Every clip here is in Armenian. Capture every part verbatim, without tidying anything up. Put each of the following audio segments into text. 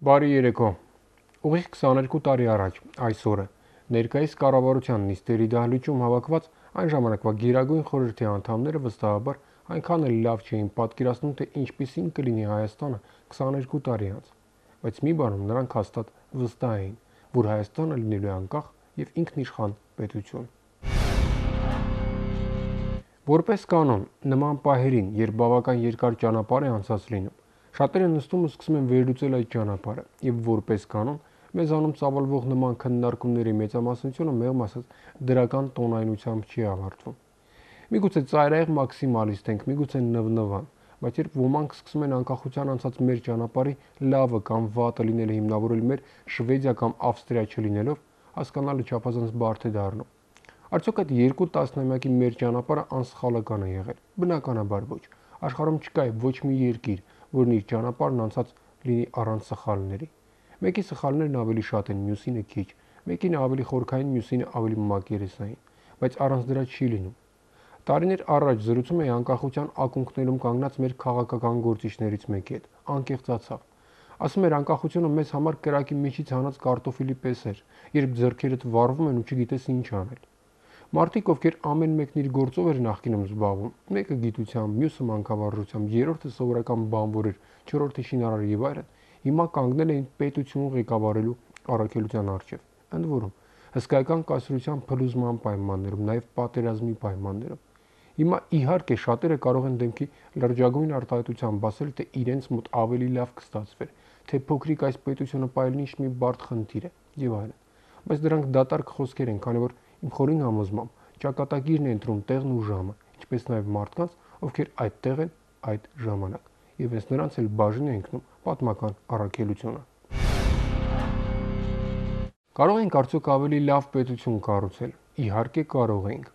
Բարի երեկո։ Ուղիղ քսաներկու տարի առաջ, այսօրը, ներկայիս կառավարության նիստերի դահլիճում հավաքված այն ժամանակվա Գերագույն խորհրդի անդամները վստահաբար այնքան էլ լավ չէին պատկերացնում, թե ինչպիսին կլինի Հայաստանը քսաներկու տարի անց, բայց մի բանում նրանք հաստատ վստահ էին, որ Հայաստանը լինելու է անկախ եւ ինքնիշխան պետություն։ Որպես կանոն, նման պահերին, երբ բավական երկար ճանապարհ է անցած լինում, շատերը նստում ու սկսում են վերլուծել այդ ճանապարհը, եւ որպես կանոն, մեզանում ծավալվող նման քննարկումների մեծամասնությունը մեղմ ասած դրական տոնայնությամբ չի ավարտվում։ Միգուցե ծայրահեղ մաքսիմալիստ ենք, միգուցե նվնվան, բայց երբ ոմանք սկսում են անկախության անցած մեր ճանապարհի լավը կամ վատը լինելը հիմնավորել մեր Շվեդիա կամ Ավստրիա չլինելով, հասկանալը չափազանց բարդ է դառնում։ Արդյոք այդ երկու տասնամյակի մեր ճանապարհը անսխալական է եղել։ Բնականաբար ոչ։ Աշխարհում չկա ոչ մի երկիր, որն իր ճանապարհն անցած լինի առանց սխալների։ Մեկի սխալներն ավելի շատ են, մյուսինը քիչ, մեկին ավելի խորքային, մյուսինը ավելի մակերեսային, բայց առանց դրա չի լինում։ Տարիներ առաջ զրուցում էի անկախության ակունքներում կանգնած մեր քաղաքական գործիչներից մեկի հետ, անկեղծացավ։ Ասում էր անկախությունը մեզ համար կրակի միջից հանած կարտոֆիլի պես էր, երբ ձեռքերդ վառվում են ու չգիտես ինչ անել։ Մարդիկ, ովքեր ամեն մեկն իր գործով էր նախկինում զբաղվում, մեկը գիտությամբ, մյուսը մանկավարժությամբ, երրորդը սովորական բանվոր էր, չորրորդը շինարար եւ այլն, հիմա կանգնել էին պետություն ղեկավարելու առաքելության առջև։ Ընդ որում, հսկայական կայսրության փլուզման պայմաններում, նաեւ պատերազմի պայմաններում։ Հիմա իհարկե շատերը կարող են դեմքի լրջագույն արտահայտությամբ ասել, թե իրենց մոտ ավելի լավ կստացվեր, թե փոքրիկ այս պետությունը պայելնի ինչ մի բարդ խնդիր է եւ այլն։ Բայց դրանք դատարկ խոսքեր են, քանի որ իմ խորին համոզմամբ ճակատագիրն է ընտրում տեղն ու ժամը, ինչպես նաեւ մարդկանց, ովքեր այդտեղ են այդ ժամանակ, եւ հենց նրանց էլ բաժին է ընկնում պատմական առաքելությունը։ Կարող ենք արդյոք ավելի լավ պետություն կառուցել։ Իհարկե կարող ենք։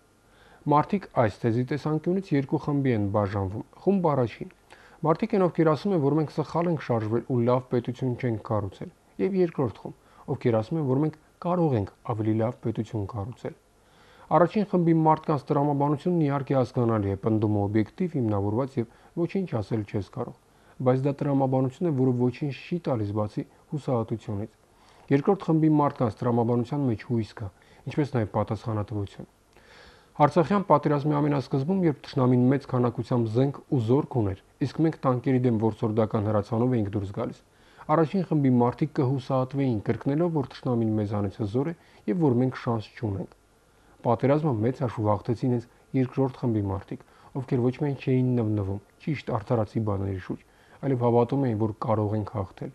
Մարդիկ այս թեզի տեսանկյունից երկու խմբի են բաժանվում։ Խումբ առաջին։ Մարդիկ են, ովքեր ասում են, որ մենք սխալ ենք շարժվել ու լավ պետություն չենք կառուցել, եւ երկրորդ խումբ, ովքեր ասում են, որ մենք կարող ենք ավելի լավ պետություն կառուցել։ Առաջին խմբի մարդկանց տրամաբանությունն իհարկե հասկանալի է, պնդումը օբյեկտիվ, հիմնավորված եւ ոչինչ ասել չես կարող, բայց դա տրամաբանություն է, որը ոչինչ չի տալիս բացի հուսահատությունից։ Երկրորդ խմբի մարդկանց տրամաբանության մեջ հույս կա, ինչպես նաեւ պատասխանատվություն։ Արցախյան պատերազմի ամենասկզբում, երբ թշնամին մեծ քանակությամբ զենք ու զորք ուներ, իսկ մենք տանկերի դեմ որսորդական հրացանով էինք դուրս գալիս, առաջին խմբի մարդիկ կհուսահատվեին, կրկնելով, որ թշնամին մեզանից հզոր է եւ որ մենք շանս չունենք։ Պատերազմը մեծ հաշվով հաղթեցին հենց երկրորդ խմբի մարդիկ, ովքեր ոչ միայն չէին նվնվում, ճիշտ արդարացի բաների շուրջ, այլև հավատում էին, որ կարող ենք հաղթել։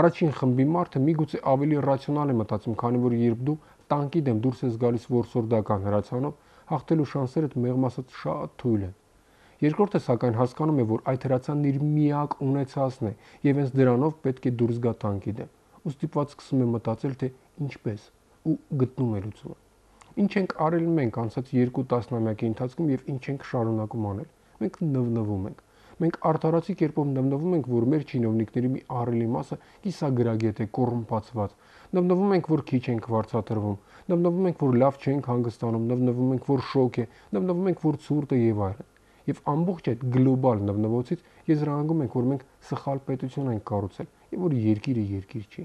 Առաջին խմբի մարդը միգուցե ավելի ռացիոնալ է մտածում, քանի որ երբ դու տանկի դեմ դուրս ես գալիս որսորդական հրացանով, հաղթելու շանսերդ մեղմ ասած շատ թույլ են։ Երկրորդը սակայն հասկանում է, որ այդ հրացանն իր միակ ունեցածն է եւ հենց դրանով պետք է դուրս գա տանկի դեմ։ Ու ստիպված սկսում է մտածել, թե ինչպես, ու գտնում է լուծումը։ Ինչ ենք արել մենք անցած երկու տասնամյակի ընթացքում եւ ինչ ենք շարունակում անել։ Մենք նվնվում ենք։ Մենք արդարացի կերպով նվնվում ենք, որ մեր չինովնիկների մի ահռելի մասը կիսագրագետ է, կոռումպացված։ Նվնվում ենք, որ քիչ ենք վարձատրվում։ Նվնվում ենք, որ լավ չենք հանգստանում, նվնվում ենք, որ շոկ է, նվնվում ենք, որ ցուրտ է եւ այլն։ Եվ ամբողջ այդ գլոբալ նվնվոցից եզրահանգում ենք, որ մենք սխալ պետություն ենք կառուցել եւ որ երկիրը երկիր չի։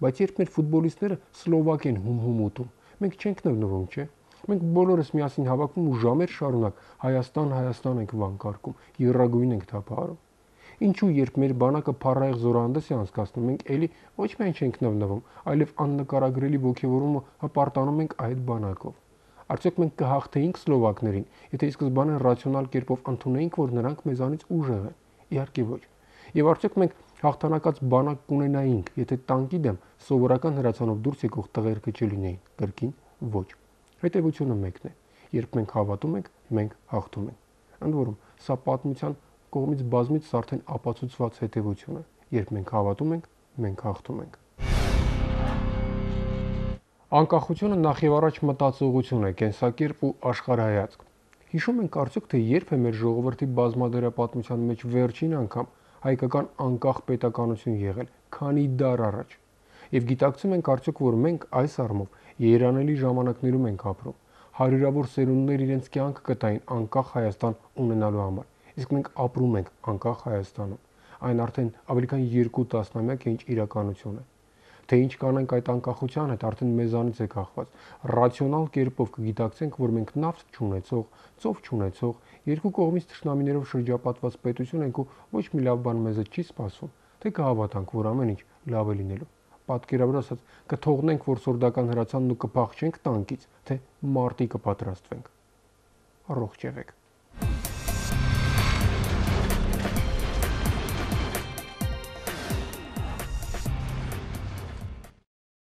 Բայց երբ մեր ֆուտբոլիստները Սլովակ են հում-հում ուտում, մենք չենք նվնվում, չէ՞։ Մենք բոլորս միասին հավաքվում ու ժամեր շարունակ Հայաստան, Հայաստան ենք վանկարկում, եռագույն ենք թափահարում։ Ինչու երբ մեր բանակը փառահեղ զորահանդես է անցկացնում, մենք էլի ոչ միայն չենք նվնվում, այլև աննկարագրելի ոգևորումը հպարտանում ենք այդ բանակով։ Արդյոք մենք կհաղթեինք սլովակներին, եթե ի սկզբանե ռացիոնալ կերպով ընդունեինք, որ նրանք մեզանից ուժեղ են։ Իհարկե ոչ։ Եվ արդյոք մենք հաղթանակած բանակ կունենայինք, եթե տանկի դեմ սովորական հրացանով դուրս եկող տղերքը չլինեին։ Կրկին ոչ։ Հետևությունը մեկն է։ Երբ մենք հավատում ենք, մենք հաղթում ենք։ Ընդ որում, սա պատմության կողմից բազմիցս արդեն ապացուցված հետևություն է։ Երբ մենք հավատում ենք, մենք հաղթում ենք։ Անկախությունը նախ եւ առաջ մտածողություն է, կենսակերպ ու աշխարհայացք։ Հիշում ենք արդյոք, թե երբ է մեր ժողովրդի բազմադերապատմության մեջ վերջին անգամ հայկական անկախ պետականություն եղել, քանի դար առաջ։ Եվ գիտակցում ենք արդյոք, որ մենք այս առումով երանելի ժամանակներում ենք ապրում։ Հարյուրավոր սերունդներ իրենց կյանքը կտային անկախ Հայաստան ունենալու համար, իսկ մենք ապրում ենք անկախ Հայաստանում։ Այն արդեն ավելի քան երկու տասնամյակ է ինչ իրականություն է։ Թե ինչ կանենք այդ անկախության հետ արդեն մեզանից է կախված։ Ռացիոնալ կերպով կգիտակցենք, որ մենք նավթ չունեցող, ծով չունեցող, երկու կողմից թշնամիներով շրջապատված պետություն ենք ու ոչ մի լավ բան մեզ չի սպասում, թե կհավատանք, որ ամեն ինչ լավ է լինելու։ Պատկերավոր ասած, կթողնենք, որ սորդական հրացանն ու կփախչենք տանկից, թե մարտի կպատրաստվենք։ Առողջ եղեք։